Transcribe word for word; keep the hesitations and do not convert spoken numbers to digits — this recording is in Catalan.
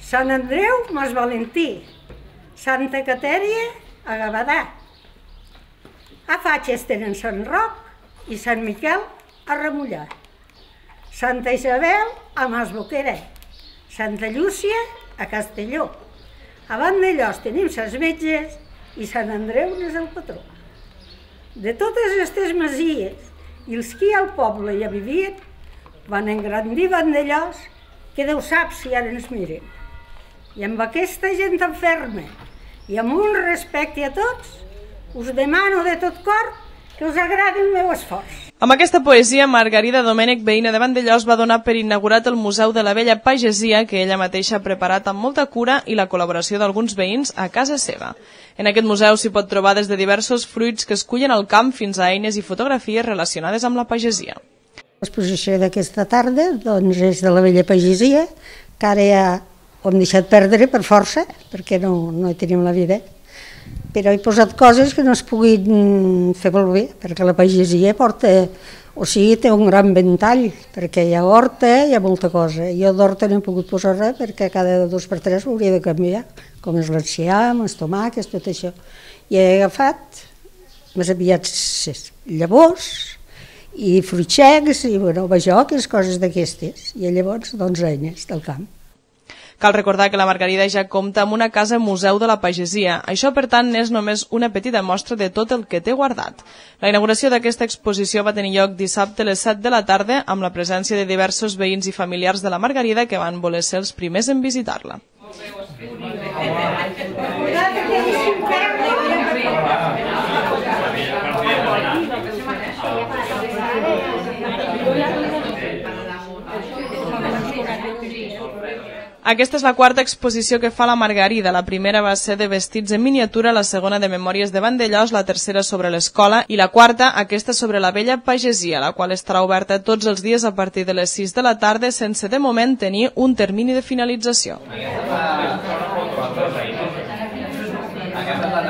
Sant Andreu, Mas Valentí, Santa Catèria, a Gavadà. A Fatxes tenen Sant Roc i Sant Miquel, a Remullar. Santa Isabel, a Masboquera. Santa Llúcia, a Castelló. A Vandellós tenim ses Metges i Sant Andreu és el patró. De totes aquestes masies i els que al poble ja vivien, van engrandir Vandellós, que Déu sap si ara ens miren. I amb aquesta gent enferma i amb un respecte a tots, us demano de tot cor que us agradi el meu esforç. Amb aquesta poesia, Margarida Domènech, veïna de Vandellós, va donar per inaugurat el Museu de la Vella Pagesia, que ella mateixa ha preparat amb molta cura i la col·laboració d'alguns veïns a casa seva. En aquest museu s'hi pot trobar des de diversos fruits que es cullen al camp fins a eines i fotografies relacionades amb la pagesia. L'exposició d'aquesta tarda doncs, és de la Vella Pagesia, que ara ja ho hem deixat perdre per força, perquè no, no hi tenim la vida. Però he posat coses que no es puguin fer molt bé, perquè la pagesia porta, o sigui, té un gran ventall, perquè hi ha horta, hi ha molta cosa. Jo d'horta no he pogut posar res, perquè cada dos per tres ho hauria de canviar, com és l'enciam, els tomàquets, tot això. I he agafat més aviat llavors i fruitxecs i, bueno, bajoques, coses d'aquestes. I llavors, doncs, eines del camp. Cal recordar que la Margarida ja compta amb una casa museu de la pagesia. Això, per tant, és només una petita mostra de tot el que té guardat. La inauguració d'aquesta exposició va tenir lloc dissabte a les set de la tarda amb la presència de diversos veïns i familiars de la Margarida que van voler ser els primers en visitar-la. Aquesta és la quarta exposició que fa la Margarida. La primera va ser de vestits en miniatura, la segona de memòries de Vandellós, la tercera sobre l'escola i la quarta, aquesta sobre la vella pagesia, la qual estarà oberta tots els dies a partir de les sis de la tarda sense de moment tenir un termini de finalització. Aquesta és la